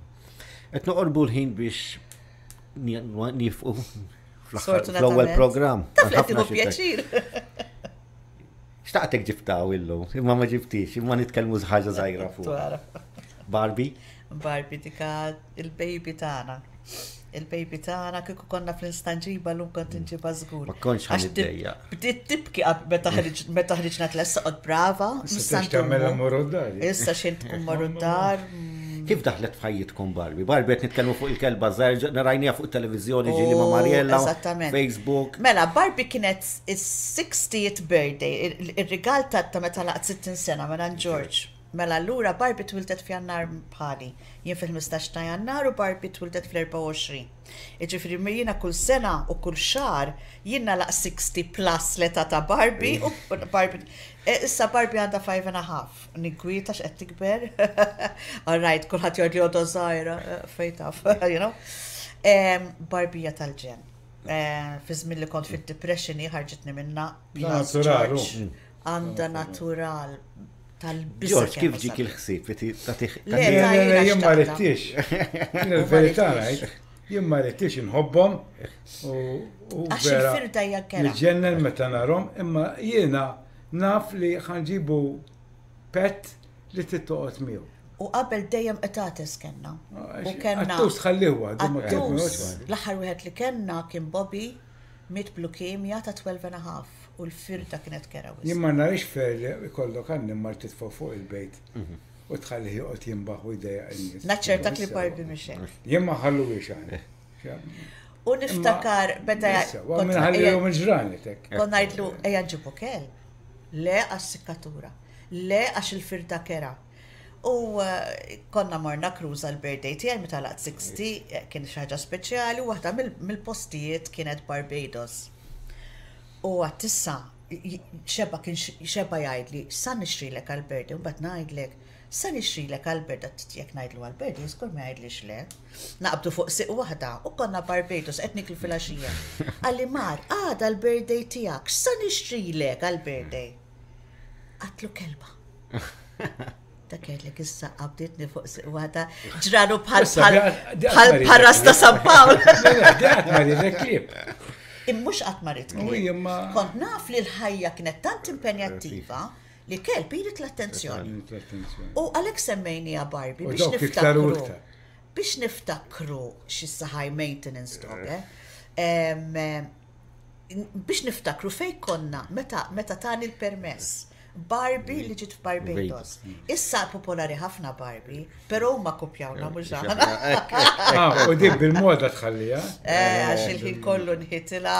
Qed noqorbu l-ħin biex nifqu fl-ewwel programm. Taf li tieħu pjaċir. Xtaqtek ġibtaw illum, imma ma ġibtix, imma nitkellmu ħaġa żgħira fuq. Barbie? Barbie dika il-baby tagħna. Il-baby tagħna kieku konna fl-instant ġiba llum kont inġibha żgur. Ma kontx ħa niddejjaq. Bdiet tibki meta ħriġna tlessa qod brava. Issa tagħmel morru d-dar. Issa xejn tkun morru d-dar. Kif daħlet f'ħajjitkom Barbie? Barbie qed nitkellmu fuq il-kelba żgħir, rajniha fuq it-televiżjoni ġieli ma' Mariella. Eżattament. Facebook. Mela, Barbie kienet is-60th birthday, ir-rigal ta' meta laqt 60 sena mela George. Mela allura Barbie twildet f'Jannar bħali. Jien fil-15 ta' Jannar u Barbie twildet fl-24. Jiġifieri jiena kull sena u kull xahar jien nagħlaq 60 plus l-età ta' Barbie u Barbie issa Barbie għandha 5 and a half. Ninkwieta x'qed tikber. All right, kulħadd jgħid li għodha żgħira, fejn taf, you know. Barbie hija tal-ġenn. Fi żmien li kont fid-depression hi ħarġitni minnha. Natural. Għandha natural. tal-biża'. George, kif ġik il-ħsieb li tagħtih? Le, jien ma ridtix. Il-verità ngħid, jien ma ridtix inħobbhom u Għax il-firda hija kera. Niġġennen meta narhom, imma jiena naf li ħanġibu pet li trid toqgħod miegħu. U qabel dejjem qtates kellna. U kellna. Qattus ħallih għadu ma Qattus, l-aħħar wieħed li kellna kien Bobby Miet b'lukemja ta' 12 and a half u l-firda kienet kerha wisq. Jien ma narix fair li jkollok annimal titfgħu fuq il-bejt u tħallih joqgħod jinbaħ u jdejjaq in-nies. Naċċertak li Barbie mhix hekk. Jien ma nħalluhiex aħna. U niftakar meta. Min ħallihom il-ġranet hekk. Kont ngħidlu ejja nġibu kelb. Le għas-sikkatura. Le għax il-firda kerha. U konna morna cruise għall-birthday tiegħi meta għalaqt 60, kien xi ħaġa speċjali u waħda mill-postijiet kienet Barbados. U għadt issa xeba kien xeba jgħidli sa nixtrilek għall-birthday, u mbagħad ngħidlek sa nixtrilek għall-birthday, għadt jekk ngħidlu għall-birthday żgur ma jgħidlix le. Naqbdu fuq sieq waħda u konna Barbados qed niklu filgħaxija. Qalli Mar, għada l-birthday tiegħek, x'sa nixtrilek għall-birthday? Għadtlu kelba. Dak jgħidlek issa qabditni fuq siq waħda ġralu bħal bħal ras ta' San Pawl. Qatt ma riedek klieb. Immux qatt ma ried klieb. Kont naf li l-ħajja kienet tant impenjattiva li kelb jrid l-attenzjoni. U għalhekk semmejniha Barbie biex niftakru. Biex niftakru x'issa high maintenance dog, eh? Biex niftakru fejn konna meta meta tani l-permess. Barbie li ġiet f'Barbados. Issa popolari ħafna Barbie, però huma kopjawna mhux aħna. Ah, u dik bil-moda tħallija. Eh, għax il-ħin kollu nħitilha.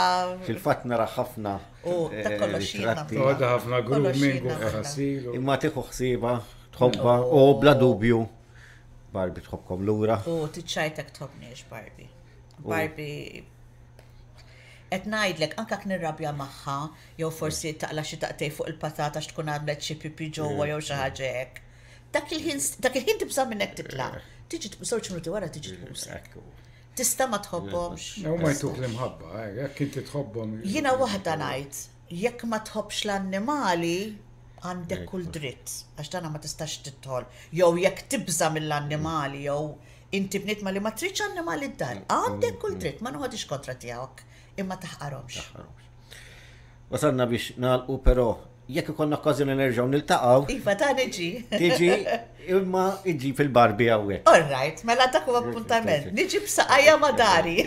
Fil-fatt nara ħafna. U ta' kollox jiena. Toħodha ħafna grooming u ħasil. Imma tieħu ħsieba, tħobbha u bla dubju Barbie tħobbkom lura. U tiċċajtek tħobbniex Barbie. Barbie Qed ngħidlek, anke jekk nirrabja magħha, jew forsi taqla' xi daqtejn fuq il-patata għax tkun għamlet xi pipi ġewwa jew xi ħaġa hekk. Dak il-ħin, dak il-ħin tibża' minnek titlaq. Tiġi żewġ minuti wara tiġi tbusek. Tista' ma tħobbhomx. Huma jtuk l-imħabba, eh, jekk inti tħobbhom. Jiena waħda ngħid, jekk ma tħobbx l-annimali, għandek kull dritt, għax dana ma tistax tidħol. Jew jekk tibża' mill-annimali jew Inti bniedma li ma tridx annimali d-dar, għandek kull dritt, ma noħodix kontra tiegħek, imma taħqarhomx. Wasalna biex nagħlqu però jekk ikollna okkażjoni nerġgħu niltaqgħu. Iva, ta' niġi. Tiġi, imma iġi fil-barbi hawnhekk. All right, mela dak huwa appuntament. Niġi b'saqajja ma' dari.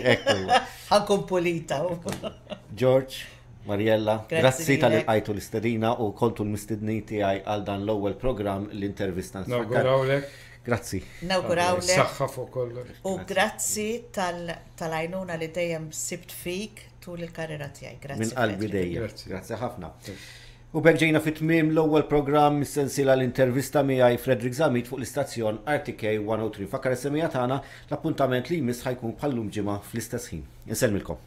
Ħankun pulita. George, Mariella, grazzi tal qajtu l-istedina u kontu l-mistednin tiegħi għal dan l-ewwel programm l-intervista. Nawgurawlek. Grazzi. Nawgurawlek. Saħħa fuq kollox. U grazzi tal-għajnuna li dejjem sibt fik tul il-karriera tiegħi. Grazzi. Minn qalbi dejjem. Grazzi ħafna. U b'hekk ġejna fi tmiem l-ewwel programm mis-sensiela l-intervista miegħi Frederick Zammit fuq l-istazzjon RTK 103. Fakkar is-semija tagħna l-appuntament li jmiss ħajkun bħal-lum ġimgħa fl-istess ħin. Insellmilkom.